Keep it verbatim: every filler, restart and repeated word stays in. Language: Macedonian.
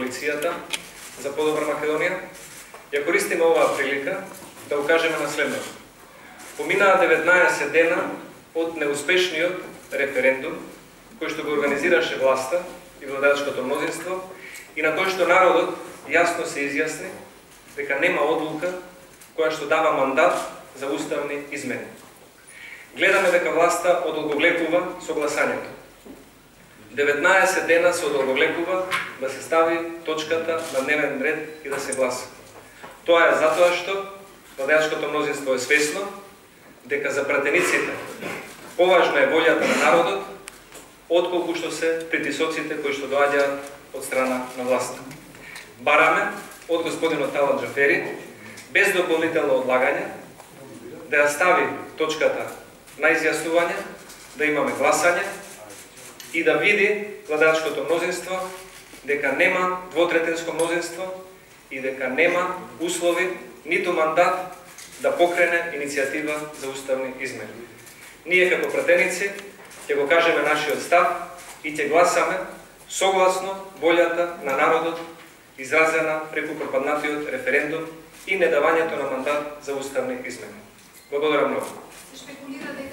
коалицијата за подобра Македонија, ја користиме оваа прилика да укажеме на следното. Поминаа деветнаесет дена од неуспешниот референдум кој што го организираше власта и владеачкото мнозинство и на кој што народот јасно се изјасни дека нема одлука која што дава мандат за уставни измени. Гледаме дека власта одолговлекува со гласањето. деветнаесет дена се одолговлекува да се стави точката на дневен ред и да се гласа. Тоа е затоа што владеачкото мнозинство е свесно дека за пратениците поважна е волјата на народот отколку што се притисоците кои што доаѓаат од страна на власта. Бараме од господинот Талат Џафери без дополнително одлагање да ја стави точката на изјаснување, да имаме гласање и да види владеачкото мнозинство дека нема двотретинско мнозинство и дека нема услови ниту мандат да покрене иницијатива за уставни измени. Ние како пратеници ќе го кажеме нашиот став и ќе гласаме согласно волјата на народот изразена преку пропаднатиот референдум и недавањето на мандат за уставни измени. Благодарам многу. Спекулира дека